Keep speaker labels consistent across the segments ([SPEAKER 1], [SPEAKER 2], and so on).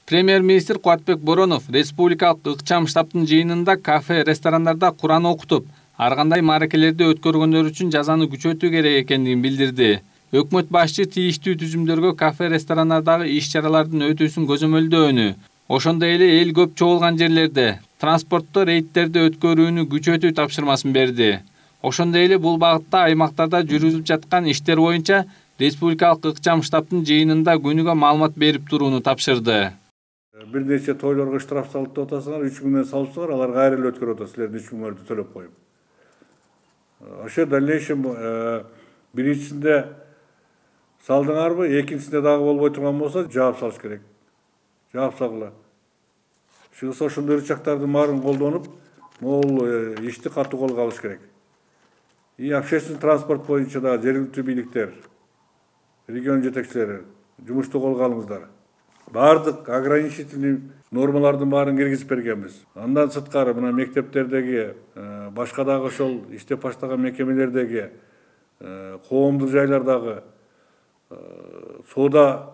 [SPEAKER 1] Премьер-министр Кубатбек Боронов республикалык ыкчам штабтын жыйынында кафе, ресторандарда Куран окутуп, ар кандай мааракелерди өткөргөндөр үчүн жазаны күчөтүү керек экендигин билдирди. Өкмөт башчы тийиштүү түзүмдөргө кафе, ресторандардагы иш-чаралардын өтүүсүн көзөмөлдөөнү, ошондой эле эл көп чогулган жерлерде транспортто рейдтерди өткөрүүнү күчөтүү тапшырмасын берди. Ошондой эле бул багытта аймактарда жүргүзүлүп жаткан иштер боюнча республикалык ыкчам штабтын жыйынында күнүгө маалымат берип турууну тапшырды.
[SPEAKER 2] Бир нече тойлорго штраф салып деп атасыңар, 3 миңден салыпсыңар, алар кайра эле өткөрүп атат, силердин 3 миңдерди төлөп коюп. Ошо дальнейшем биринчисинде салдыңарбы, экинчисинде дагы болбой турган болсо жаап салыш керек. Жаап салгыла. Чыгса ошондой рычагтардын баарын колдонуп, могул ишти катуу колго алыш керек. И общественный транспорт боюнча да жергиликтүү бийликтер, регион жетекчилери жумушту колго алыңыздар. Бардык ограничительный нормалардын баарын киргизип бергенбиз. Андан сырткары мына мектептердеги, башка дагы ошол иштеп баштаган мекемелердеги, коомдук жайлардагы, соода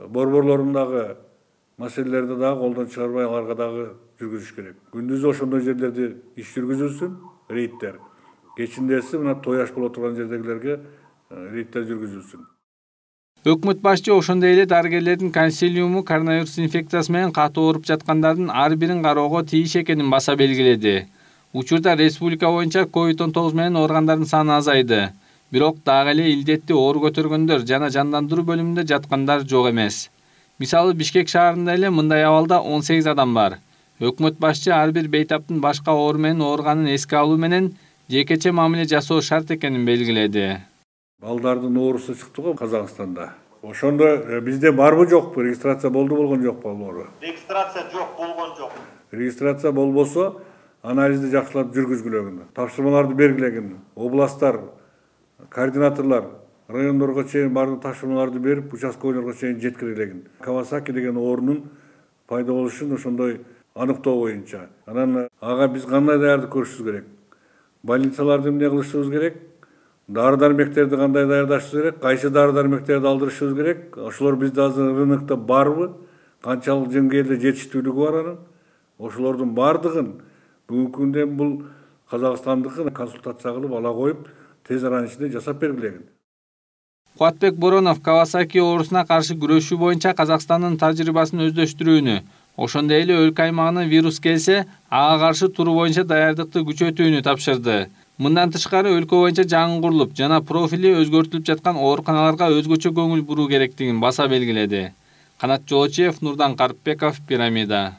[SPEAKER 2] борборлорундагы маселелерди дагы колдон чыгарбай аларга дагы жүргүзүш керек. Күндүзү ошондой жерлерде иш жүргүзүлсүн, рейдтер. Кечиндеси мына той аш боло турган жердегилерге рейдтер жүргүзүлсүн.
[SPEAKER 1] Өкмөт башчы ошондой эле дарыгерлердин консилиуму коронавирус инфекциясы менен катуу ооруп жаткандардын ар бирин кароого тийиш экенин баса белгиледи. Учурда республика боюнча COVID-19 менен ооругандардын саны азайды. Бирок дагы эле илдетти оор көтөргөндөр жана жандандыруу бөлүмүндө жаткандар жок эмес. Мисалы Бишкек шаарында эле мындай абалда 18 адам бар. Өкмөт башчы ар бир бейтаптын башка оору менен ооруганын эске алуу менен жекече мамиле жасоо шарт экенин белгиледи.
[SPEAKER 2] Балдардын оорусу чыкты го Казакстанда. Ошондо бизде барбы жокпу? Регистрация болду болгон жокпу ал оору?
[SPEAKER 3] Регистрация жок, болгон жок.
[SPEAKER 2] Регистрация болбосо анализди жакшылап жүргүзгүлөгүн, тапшырмаларды бергилегин, областтар, координаторлор райондорго чейин бардык тапшырмаларды берип, участкойлорго чейин жеткирилегин. Кавасаки деген оорунун пайда болушун ошондой аныктоо боюнча. Анан ага биз кандай даярдык көрүшүбүз керек? Больницаларды эмне кылышыбыз керек? Дары-дармектерди кандай даярдашыбыз керек? Кайсы дары-дармектерди алдырышыбыз керек? Ошолор бизде азыр рынокто барбы? Канчалык деңгээлде жетиштүүлүгү бар анын? Ошолордун бардыгын бүгүнкү күндө бул Казакстандыкын консультация кылып ала коюп, тез аранын ичинде жасап бергилегин.
[SPEAKER 1] Кубатбек Боронов Кавасаки оорусуна каршы күрөшүү боюнча Казакстандын тажрыйбасын өздөштүрүүнү, ошондой эле өлкө аймагына вирус келсе, ага каршы туруу боюнча даярдыкты күчөтүүнү тапшырды. Мындан тышкары өлкө боюнча жаңы курулуп жана профили өзгөртүлүп жаткан ооруканаларга өзгөчө көңүл буруу керектигин баса белгиледи. Канат Жолочиев, Нурдан Карпбеков, Пирамида.